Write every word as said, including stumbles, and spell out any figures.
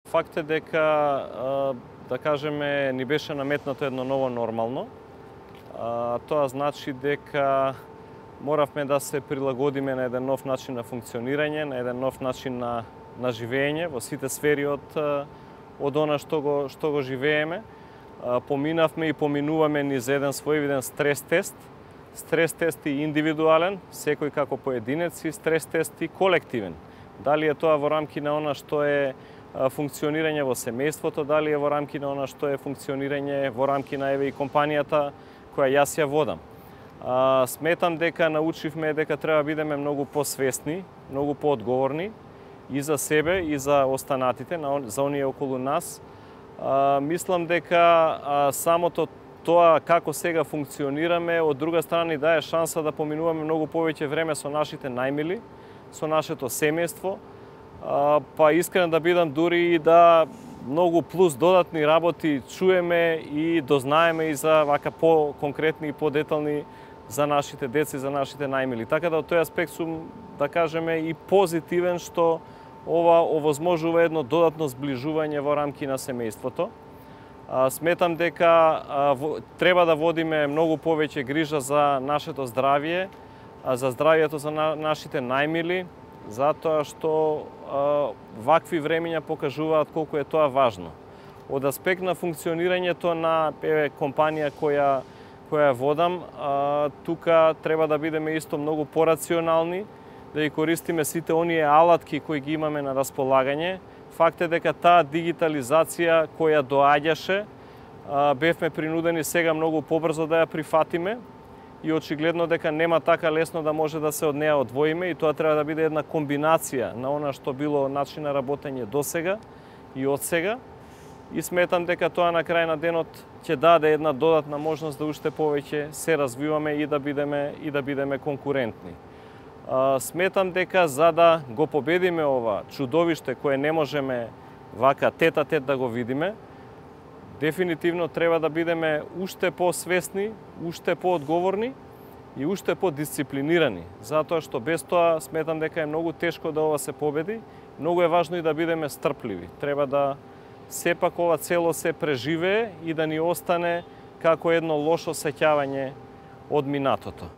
Факт е дека, да кажеме, ни беше наметнато едно ново нормално. Тоа значи дека моравме да се прилагодиме на еден нов начин на функционирање, на еден нов начин на, на живење во сите сфери од, од она што го, што го живееме. Поминавме и поминуваме низ еден своевиден стрес тест. Стрес тест и индивидуален, секој како поединец, и стрес тест и колективен. Дали е тоа во рамки на она што е функционирање во семејството, дали е во рамки на она што е функционирање во рамки на еве и компанијата која јас ја водам. А, сметам дека научивме дека треба бидеме многу посвесни, многу поодговорни и за себе и за останатите, за оние околу нас. А, мислам дека а, самото тоа како сега функционираме, од друга страна ни дае шанса да поминуваме многу повеќе време со нашите најмили, со нашето семејство, а, па искрен да бидам дури и да многу плюс додатни работи чуеме и дознаеме и за вака по-конкретни и по-детални за нашите деца и за нашите најмили. Така да од тој аспект сум, да кажеме, и позитивен што ова овозможува едно додатно зближување во рамки на семејството. Сметам дека треба да водиме многу повеќе грижа за нашето здравје, за здравјето за нашите најмили, затоа што вакви времења покажуваат колку е тоа важно. Од аспект на функционирањето на еве компанија која која водам, тука треба да бидеме исто многу порационални, да ги користиме сите оние алатки кои ги имаме на располагање. Факт е дека таа дигитализација која доаѓаше, бевме принудени сега многу побрзо да ја прифатиме и очигледно дека нема така лесно да може да се од неа одвоиме, и тоа треба да биде една комбинација на она што било начин на работење досега и од сега. И сметам дека тоа на крај на денот ќе даде една додатна можност да уште повеќе се развиваме и да бидеме и да бидеме конкурентни. Сметам дека за да го победиме ова чудовиште кое не можеме вака тет-а-тет да го видиме, дефинитивно треба да бидеме уште посвесни, уште поодговорни и уште подисциплинирани, затоа што без тоа сметам дека е многу тешко да ова се победи. Многу е важно и да бидеме стрпливи. Треба да сепак ова цело се преживее и да ни остане како едно лошо сеќавање од минатото.